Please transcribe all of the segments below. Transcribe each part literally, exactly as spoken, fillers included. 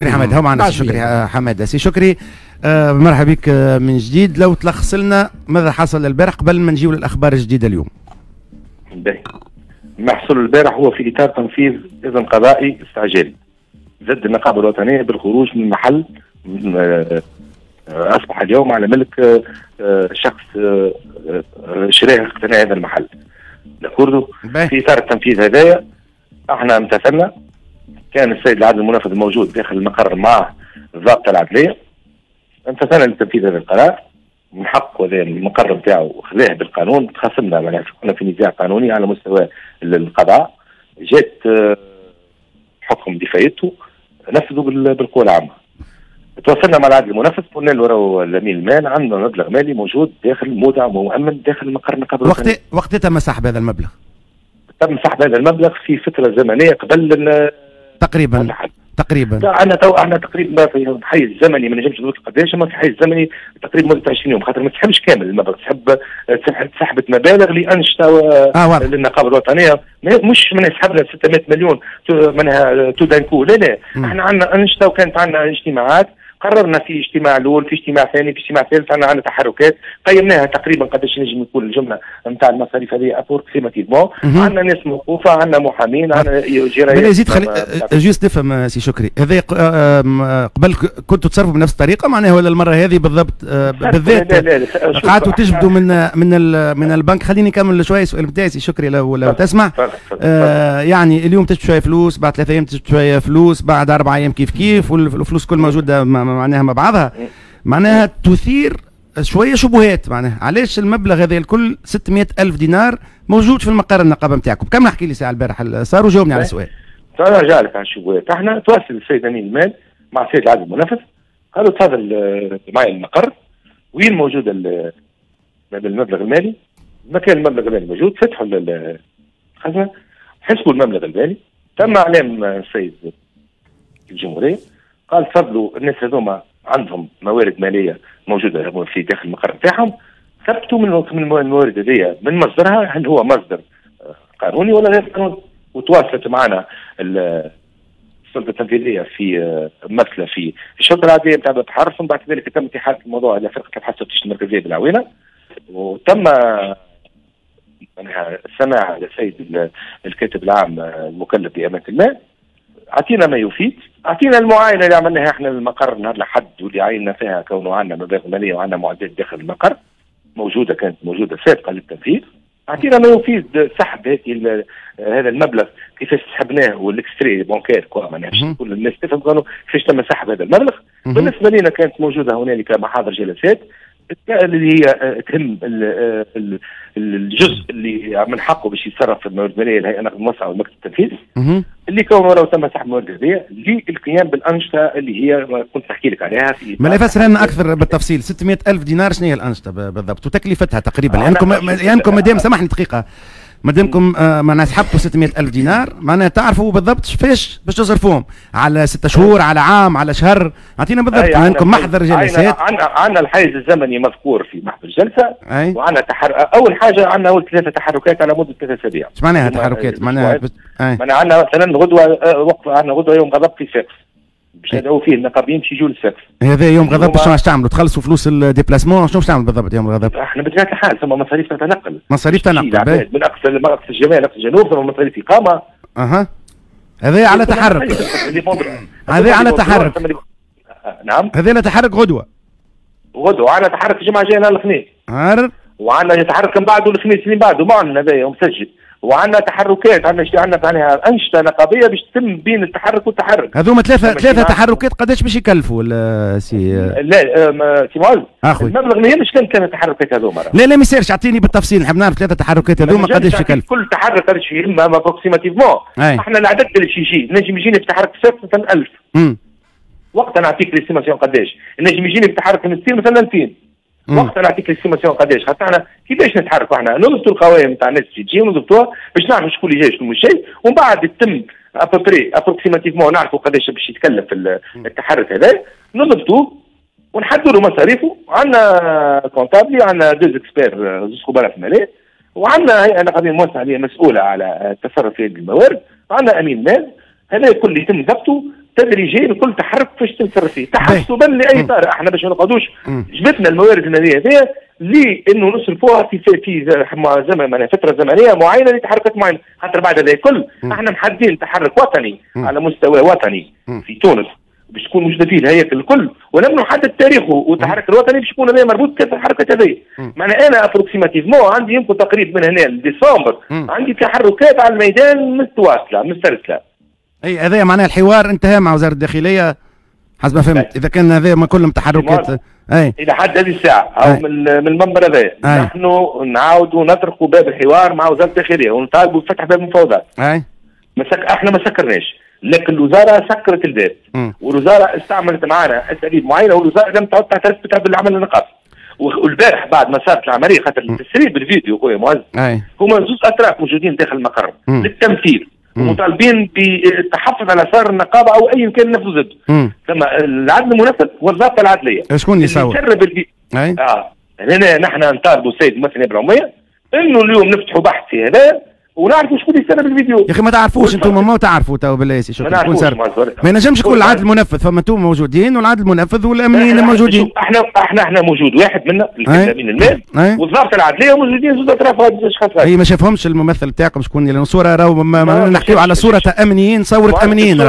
حماد هو معنا شكري حماد. سي شكري آه مرحبا بك من جديد. لو تلخص لنا ماذا حصل البارح قبل ما نجيو للاخبار الجديدة اليوم. باهي، ما حصل البارح هو في اطار تنفيذ اذن قضائي استعجالي ضد النقابة الوطنية بالخروج من محل اصبح اليوم على ملك شخص شراه اقتنى هذا المحل. في اطار التنفيذ هذايا احنا امتثلنا، كان السيد العدل المنفذ موجود داخل المقر مع الضابطه العدليه، امتثلنا لتنفيذ هذا القرار من حق هذا المقر نتاعو خذاه بالقانون. تخاصمنا معناها كنا في نزاع قانوني على مستوى القضاء، جات حكم بفايدته نفذوا بالقوة العامة. تواصلنا مع العدل المنفذ قلنا له راهو الامين المال عندنا مبلغ مالي موجود داخل مودع ومؤمن داخل مقر النقابة. وقت وقت تم سحب هذا المبلغ؟ تم سحب هذا المبلغ في فترة زمنية قبل تقريبا تقريبا احنا تو احنا تقريبا في حيز زمني ما نجمش نقول قداش، اما في حيز زمني تقريبا مده عشرين يوم، خاطر ما تسحبش كامل المبلغ، تسحب سحبت مبالغ لانشطه آه للنقابه الوطنية، مش من سحبنا ستمائة مليون منها tout d'un coup، لا لا م. احنا عندنا انشطة وكانت عندنا اجتماعات، قررنا في اجتماع الاول، في اجتماع ثاني، في اجتماع ثالث، عندنا عندنا تحركات قيمناها تقريبا قداش نجم يكون الجملة نتاع المصاريف هذه approximativement. عندنا ناس موقوفة، عندنا محامين، عندنا جرايات. يزيد خلي juste نفهم سي شكري، هذا قبل كنتوا تصرفوا بنفس الطريقة معناها ولا المرة هذه بالضبط بالذات قعدتوا تجبدوا من من من البنك؟ خليني نكمل شوية السؤال نتاعي سي شكري لو لو تسمع. آه يعني اليوم تجبد شوية فلوس، بعد ثلاث ايام تجبد شوية فلوس، بعد اربع ايام كيف كيف، والفلوس كل موجودة معناها مع بعضها، معناها تثير شوية شبهات. معناها علاش المبلغ هذا الكل ستمائة ألف دينار موجود في المقر النقابة نتاعكم؟ كم نحكي لي ساعة البارح صار وجاوبني على السؤال. نرجع لك على الشبهات. احنا تواصل السيد امين المال مع السيد العدل المنفذ، قالوا تفضل معي المقر وين موجود المبلغ المالي، مكان المبلغ المالي موجود، فتحوا الخزنة حسبوا المبلغ المالي. تم اعلام السيد الجمهورية، قال تفضلوا الناس هذوما عندهم موارد ماليه موجودة في داخل المقر نتاعهم، ثبتوا من الموارد هذيا من مصدرها، هل هو مصدر قانوني ولا غير قانوني. وتواصلت معنا السلطة التنفيذية في ممثلة في الشرطة العادية نتاع البحر، ثم بعد ذلك تم احالة الموضوع الى فرقه البحث والتفتيش المركزية بالعوينه، وتم السماع للسيد الكاتب العام المكلف بامانه المال. اعطينا ما يفيد، اعطينا المعاينة اللي عملناها احنا للمقر نهار الاحد واللي عينا فيها كونه عندنا مبالغ ماليه وعندنا معدات داخل المقر موجودة، كانت موجودة سابقه للتنفيذ. اعطينا ما يفيد سحب هذه هذا المبلغ كيفاش سحبناه، وال extrait bancaire quoi معناها باش كل الناس تفهم كانوا كيفاش تم سحب هذا المبلغ. بالنسبة لنا كانت موجودة هنالك محاضر جلسات اللي هي تهم الجزء اللي من حقه باش يتصرف في الموارد المالية الهيئة النقد الموسعه والمكتب التنفيذي، اللي كونه لو تم سحب الموارد هذه للقيام بالانشطه اللي هي كنت نحكي لك عليها. في ما لا يفسر لنا اكثر بالتفصيل ستمائة ألف دينار شنو هي الانشطة بالضبط وتكلفتها تقريبا؟ لانكم لانكم مادام سامحني دقيقة، مادامكم معناها سحبتوا ستمائة ألف دينار معناها تعرفوا بالضبط فاش باش تصرفوهم، على ستة شهور، على عام، على شهر، اعطينا بالضبط. عندكم محضر جلسات؟ عندنا الحيز الزمني مذكور في محضر الجلسة، وعندنا تحر... اول حاجة عندنا اول ثلاثة تحركات على مده ثلاثة اسابيع. ايش معناها تحركات؟ معناها بت... معناها عندنا مثلا غدوه وقف، عندنا غدوه يوم غضب في صفاقس باش ندعو فيه النقابيين باش يجوا للصفاقس. هذا يوم غضب شنو باش تعملوا؟ تخلصوا فلوس ال déplacement؟ شنو باش تعملوا بالضبط يوم الغضب؟ احنا بطبيعة الحال ثم مصاريف تتنقل، مصاريف تنقل من اقصى من اقصى الشمال اقصى الجنوب، ثم مصاريف اقامه. اها هذا على تحرك، هذا على تحرك. نعم هذا على تحرك غدوه، غدوه على تحرك الجمعة الجاية نهار الاثنين، وعندنا تحرك من بعده الخميس اللي بعده معلن هذايا ومسجل، وعندنا تحركات، عندنا عندنا معناها انشطة نقابيه باش تتم بين التحرك والتحرك. هذوما ثلاثة ثلاثة تحركات قداش باش يكلفوا سي؟ لا سي معز المبلغ ما يهمش كان ثلاثة تحركات هذوما. لا لا ما يصيرش، اعطيني بالتفصيل، نحب نعرف ثلاثة تحركات هذوما قداش يكلفوا. كل تحرك قداش يهم approximativement. احنا العدد اللي باش يجي نجم يجيني في تحرك صفر مثلا ألف، وقتها نعطيك l'estimation قداش، نجم يجيني في تحرك المستير مثلا ألفين، وقتها نعطيك l'estimation قداش. خاطر احنا كيفاش نتحركوا؟ احنا نضبطوا القوائم نتاع الناس اللي تجي ونضبطوها باش نعرفوا شكون اللي جاي شكون مش جاي، ومن بعد يتم à peu près approximativement نعرفوا قداش باش يتكلف التحرك هذا، نضبطوه ونحدوا له مصاريفه. عندنا comptable، عندنا deux experts، زوج خبراء في المالية، وعندنا هيئة نقابيه موسعه اللي هي مسؤولة على التصرف في الموارد، وعندنا امين مال. هذا الكل يتم ضبطه تدريجيا كل تحرك فاش تنصرف فيه تحسبا لاي طارئ. احنا باش ما نقعدوش جبدنا الموارد المالية هذه لانه نصرفوها في في زمن معناها فترة زمنية معينة لتحركات معينة، خاطر بعد هذا الكل احنا محددين تحرك وطني مم. على مستوى وطني مم. في تونس باش تكون موجودة فيه الهياكل الكل، ولم نحدد تاريخه، والتحرك الوطني باش يكون هذا مربوط بكافة الحركات هذه. معناها انا approximativement عندي يمكن تقريبا من هنا لديسمبر عندي تحركات على الميدان متواصلة مسترسله. اي هذا معناها الحوار انتهى مع وزارة الداخلية حسب ما فهمت، اذا كان هذا ما كلهم تحركات اي الى حد هذه الساعة او من من المنبر هذا نحن نعاودوا نطرقوا باب الحوار مع وزارة الداخلية ونطالبوا بفتح باب المفاوضات. اي مسك احنا ما سكرناش، لكن الوزارة سكرت الباب، والوزارة استعملت معنا اساليب معينة، والوزارة لم تعد تعترف بالعمل النقابي. والبارح بعد ما صارت العملية خاطر التسريب الفيديو خويا معز هما زوج اطراف موجودين داخل المقر للتمثيل ومطالبين بالتحفظ على صار النقابة او اي كان نفذ ضده. ثم العدل المنفذ والضابطه العدليه. شكون اللي يصور؟ الفي... اه هنا نحن نطالبوا السيد الممثل النائب العمومية انه اليوم نفتحوا بحث في هذا ونعرفوا شكون اللي سرب الفيديو. يا اخي ما تعرفوش انتم، ما تعرفوا تو بالله يا شكون شكون سرب. ما ينجمش يكون العدل المنفذ، فما انتم موجودين والعدل المنفذ والامنيين موجودين. احنا احنا احنا موجود واحد منا اللي امين المال والضابطه العدليه موجودين زوج اطراف اشخاص. اي ما شافهمش الممثل تاعكم شكون، لان الصورة راهو نحكيو على صوره امنيين، صوره امنيين.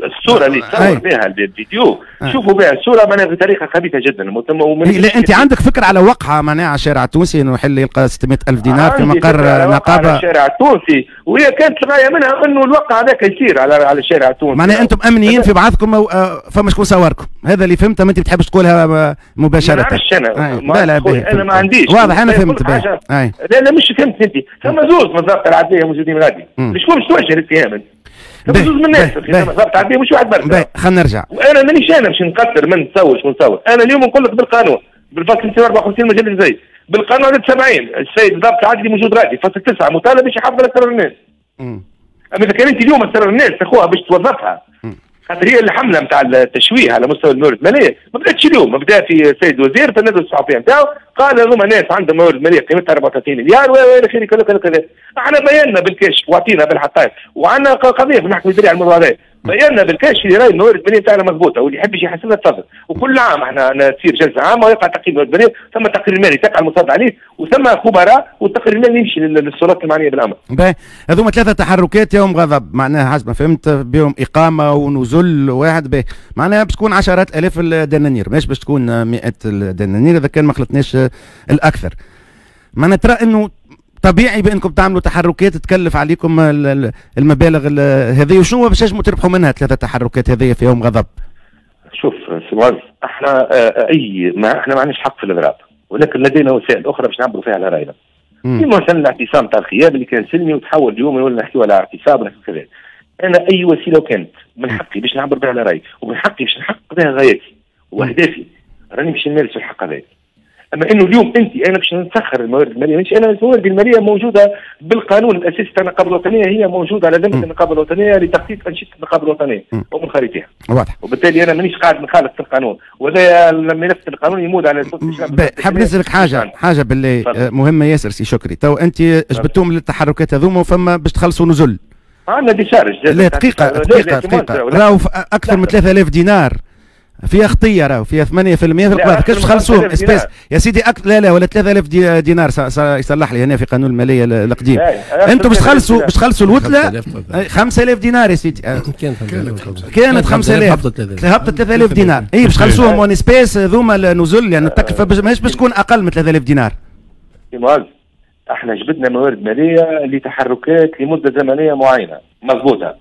الصورة اللي تصور بها الفيديو شوفوا بها الصورة معناها بطريقة خبيثة جدا. لا انت عندك فكرة على وقعه معناها على الشارع التونسي انه يحل يلقى ستمائة ألف دينار في مقر نقابة على الشارع التونسي، وهي كانت الغاية منها انه الوقع هذاك يصير على على الشارع التونسي. معناها انتم امنيين في بعضكم فما شكون صوركم، هذا اللي فهمته، ما انت بتحبش تقولها مباشرة. ما نعرفش انا، لا لا انا ما عنديش واضح، انا فهمت. لا لا مش فهمت انت، ثم زوز من الضابطه العدليه موجودين غادي، شكون باش توجه الاتهام انت؟ ثم زوز من الناس الضابطه العدليه مش واحد برك. خلينا نرجع، وانا مانيش انا باش نقدر من نصور شكون نصور، انا اليوم نقول لك بالقانون بالفصل مئتين وأربعة وخمسين مجلة الجزائر بالقانون عدد سبعين السيد الضابط العدلي موجود غادي فصل تسعة مطالب باش يحافظ على اسرار الناس. اما اذا كان انت اليوم اسرار الناس تاخوها باش توظفها، خاطر هي الحملة نتاع التشويه على مستوى الموارد المالية ما بداتش اليوم، بدا في السيد الوزير في الندوة الصحفية نتاعو قال هذوما ناس عندهم موارد ماليه قيمتها أربعة وثلاثين مليار والى اخره كذا كذا كذا. احنا بينا بالكشف واعطينا بالحقائق وعندنا قضية في المحكمة الادارية على الموضوع هذا، بينا بالكشف اللي راهي الموارد المالية نتاعنا مضبوطة واللي يحب يجي يحاسبنا تفضل. وكل عام احنا تصير جلسه عامة ويقع تقييم الموارد المالية، ثم تقرير مالي تقع المصادقة عليه وثم خبراء والتقرير المالي يمشي للسلطات المعنية بالامر. باهي، هذوما ثلاثة تحركات يوم غضب معناها حسب ما فهمت بهم اقامه ونزل واحد، باهي معناها باش تكون عشرات الاف الدنانير، ماهيش باش تكون مئات الدنانير اذا كان ما خلطناش الاكثر. معناها ترى انه طبيعي بانكم تعملوا تحركات تكلف عليكم المبالغ هذه، وشنو باش تنجموا تربحوا منها ثلاثة تحركات هذه في يوم غضب؟ شوف سي معز، احنا اي ما احنا ما عندناش حق في الاضراب، ولكن لدينا وسائل اخرى باش نعبروا فيها على راينا. كيما مثلا الاعتصام تاع الخيام اللي كان سلمي وتحول اليوم ولا نحكيو على اعتصام ولا كذا. انا اي وسيلة وكانت من حقي باش نعبر بها على رايي ومن حقي باش نحقق بها غاياتي واهدافي، راني باش نمارس الحق هذا. اما انه اليوم انت انا باش نسخر الموارد المالية، مش انا الموارد المالية موجودة بالقانون الاساسي تاع النقابة الوطنية، هي موجودة على ذمه النقابة الوطنية لتخطيط انشطة النقابة الوطنية ومن خارجها. واضح. وبالتالي انا مانيش قاعد نخالف في القانون، وهذا الملف القانوني يمود على حاب نسالك حاجة حاجة بالله مهمة ياسر سي شكري، تو انت جبتوهم للتحركات هذوما وفما باش تخلصوا نزل. عندنا décharge. لا دقيقة دقيقة دقيقة، راهو اكثر من ثلاثة آلاف دينار فيها خطيه، راهو فيها ثمانية بالمئة في القبض، كيفاش تخلصوهم espèces يا سيدي؟ أكثر لا لا ولا ثلاثة آلاف دينار يصلح لي هنا في قانون المالية القديم. انتم باش تخلصوا باش تخلصوا الوتله خمسة آلاف دينار يا سيدي، كانت خمسة آلاف هبطت ثلاثة آلاف دينار، اي باش تخلصوهم en espèces هذوما النزل، يعني التكلفة ماهيش باش تكون اقل من ثلاثة آلاف دينار. احنا جبدنا موارد ماليه لتحركات لمدة زمنية معينة مضبوطة،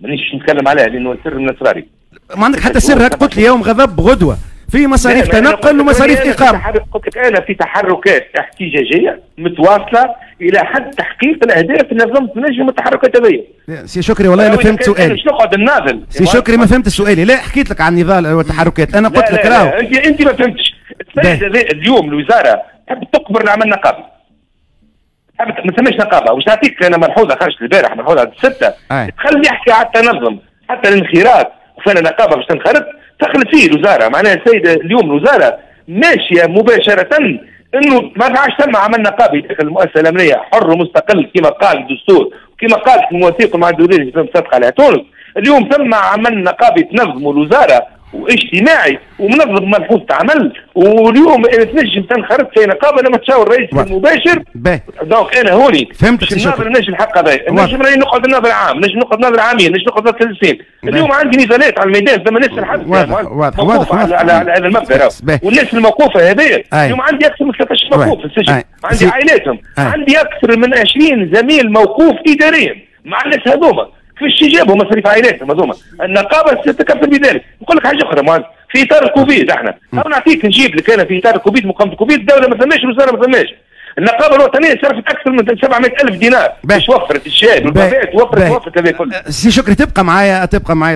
مانيش نتكلم عليها لانه سر من اسراري. ما عندك حتى سر، هاك قلت لي يوم غضب غدوه في مصاريف تنقل ومصاريف اقامه. قلت لك انا في تحركات احتجاجية متواصلة الى حد تحقيق الاهداف اللي نظمت نجم التحركات هذه. سي شكري والله انا فهمت سؤالي. مش نقعد نناضل سي شكري، ما فهمت سؤالي. لا حكيت لك عن النضال والتحركات، انا قلت لك راهو انت انت ما فهمتش. اليوم الوزارة تحب تقبر العمل النقابي، ما ثماش نقابة. وش نعطيك انا ملحوظة خرجت البارح، ملحوظة الستة تخلي يحكي على التنظم حتى الانخراط، وفانا نقابة باش تنخرط دخلت فيه الوزارة. معناها السيدة اليوم الوزارة ماشية مباشرة انه ما عادش ثم عمل نقابي داخل المؤسسة الامنية حر ومستقل كما قال الدستور وكما قالت المواثيق مع الدولية اللي مصدقه عليها تونس. اليوم ثم عمل نقابي تنظموا الوزارة واجتماعي ومنظم ملحوظة عمل، واليوم تنجم تنخرط في نقابة لما تشاور الرئيس المباشر. donc انا هوني فهمتك. ناظر نجم الحق هذا، نجم راني نقعد ناظر عام، نجم نقعد ناظر عامين، نجم نقعد ثلاث سنين. اليوم عندي نزالات على الميدان، ثم ناس الحبس واضح واضح واضح على, على, على هذا المبدا، والناس الموقوفه هذه اليوم عندي اكثر من ثلاثة عشر موقوف في السجن، عندي عائلاتهم، عندي اكثر من عشرين زميل موقوف اداريا مع الناس هذوما. كيفاش جابوا مصاريف عائلاتهم هذوما؟ النقابة ستتكفل بذلك. نقول لك حاجة اخرى مهندس، في اطار الكوفيد احنا نعطيك نجيب لك انا في اطار الكوفيد، مقاومة الكوفيد الدولة ما ثماش، الوزارة ما ثماش، النقابة الوطنية صرفت اكثر من سبعمائة ألف دينار باش وفرت الشاي والبافات، وفرت وفرت هذا كله. سي شكري تبقى معايا، تبقى معايا.